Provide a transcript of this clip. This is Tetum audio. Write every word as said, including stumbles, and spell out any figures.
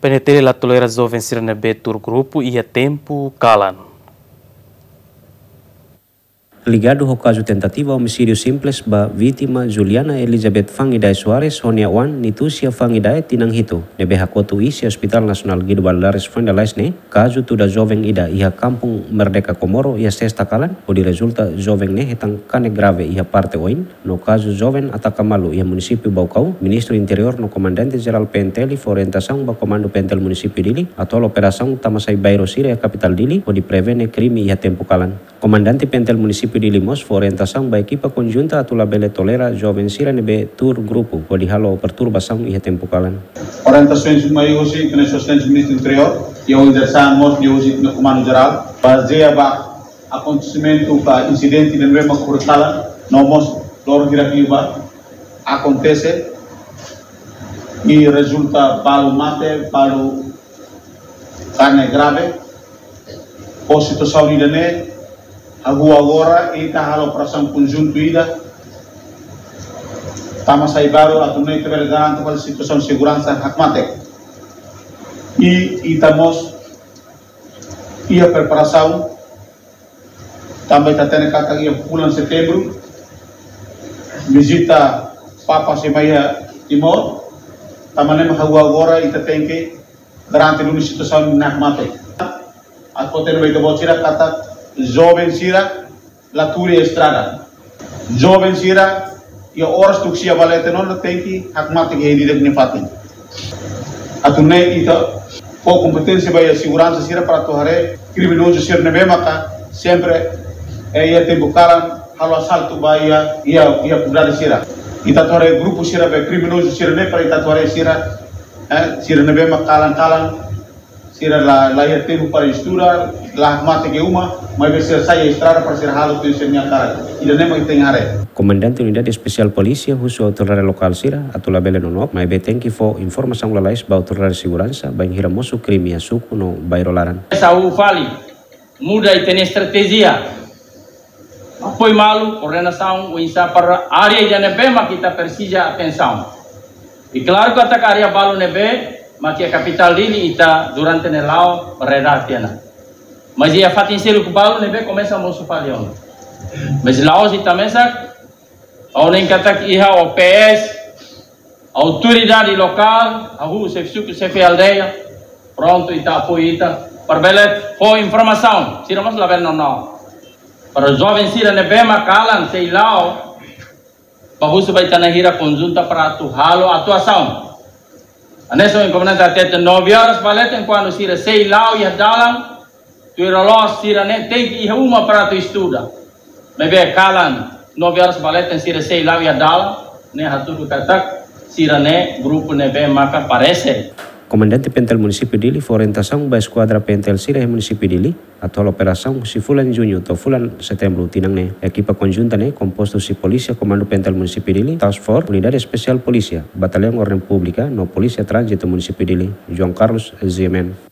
PNTL la tolera joven sira ne'ebé tuur grupu iha tempu kalan. Ligadu ho kazu tentativa omisídiu simples ba vítima Juliana Elizabeth Fangidae Soares ho nia oan Nitucia Fangidae tinan hitu, ne'ebé hakotu iis iha Hospital Nasionál Guido Valadares Fuendalais ne'e, kazu tuda joven ida iha Kampung Merdeka Comoro iha sesta kalan, hodi rezulta joven ne'e hetan karne grave iha parte oin, no kazu joven ataka malu iha munisípiu Baucau, Ministru Interiór no Komandante Jerál PNTL fó orientasaun ba Komandu PNTL Munisípiu Dili atu halo operasaun tama sai bairru sira iha kapitál Dili, hodi prevene krime iha tempu kalan. Komandante PNTL Munisípiu Dili mós fó orientasaun ba ekipa konjunta atu labele tolera joven sira ne'ebé tuur grupu hodi halo perturbasaun iha tempu kalan. Orientasaun mai husi Exelénsia Ministru Interiór, iha orientasaun mós mai husi Komandu Jerál, bazeia ba akontesimentu ka insidente ne'ebé mak ohin kalan, no mós loron hirak liubá akontese, i rezulta balu mate, balu karne grave. Ho situasaun ida-ne'e, hahú agora ita halo operasaun konjuntu ida, tama sai bairru atu nune'e ita bele garante ba situasaun seguransa hakmatek. I ita mós iha preparasaun, tanba ita hatene katak iha fulan Setembru, vizita Papa sei mai iha Timor, tanba ne'e mak hahú agora ita tenke garante duni situasaun ne'e hakmatek. Atu hatene ba ita-boot sira katak joven sira la tuur iha estrada. Joven sira iha oras tuku sia ba leten ona tenke hakmatek iha ida-idak nia fatin. Atu nune'e ita fó kompeténsia ba iha seguransa sira para atu haree kriminozu sira ne'ebé maka sempre, eh, iha tempu kalan halo asaltu ba iha, iha, iha komunidade sira. Ita atu haree grupu sira be kriminozu sira-ne'e para ita atu haree sira, eh, sira ne'ebé mak kalan-kalan, sira la, la iha tempu para estuda, la hakmatek iha uma, maibé sira sai estrada para sira halo tuir sira-nia hakarak. Ida-ne'e mak ita tenke haree. Komandante Unidade Espesiál Polísia husu autoridade lokál sira atu labele nonook, maibé tenke fó informasaun lalais ba autoridade seguransa bainhira mosu krime iha suku no bairru laran. Saúde fali, muda ita-nia estratéjia. Apoiu malu, koordenasaun, oinsá para área ida ne'ebé mak ita presiza atensaun. I klaru katak área balu ne'ebé mak iha kapitál Dili ita durante ne'e la'o reda tiha ona. Mas iha fatin seluk balu ne'ebé komesa mosu fali ona. Mas la'ós ita mesak, ha'u hanoin katak iha O P S, autoridade lokál, hahú xefe suku, xefe aldeia, prontu ita apoiu ita, para bele fó informasaun, sira mós labele nonook. Para joven sira ne'ebé mak kalan sei la'o, bá husu ba ita-nia hira konjunta para atu halo atuasaun. Hanesan ohin komandante hatete nove horas ba leten kuandu sira sei la'o iha dalan, tuir loloos sira-ne'e tenke iha uma para atu estuda. Maibé kalan nove horas ba leten sira sei la'o iha dalan, ne'e hatudu katak sira-ne'e grupu ne'ebé maka parese. Komandante PNTL Munisípiu Dili fó orientasaun ba eskuadra PNTL sira iha Munisípiu Dili atu halo operasaun husi fulan Juñu to'o fulan Setembru tinan ne'e. Ekipa konjunta ne'e kompostu husi Polísia Komandu PNTL Munisípiu Dili, Task Force, Unidade Espesiál Polísia, Batallaun Orden Públika, no Polísia Tránzitu Munisípiu Dili. João Carlos, G M N.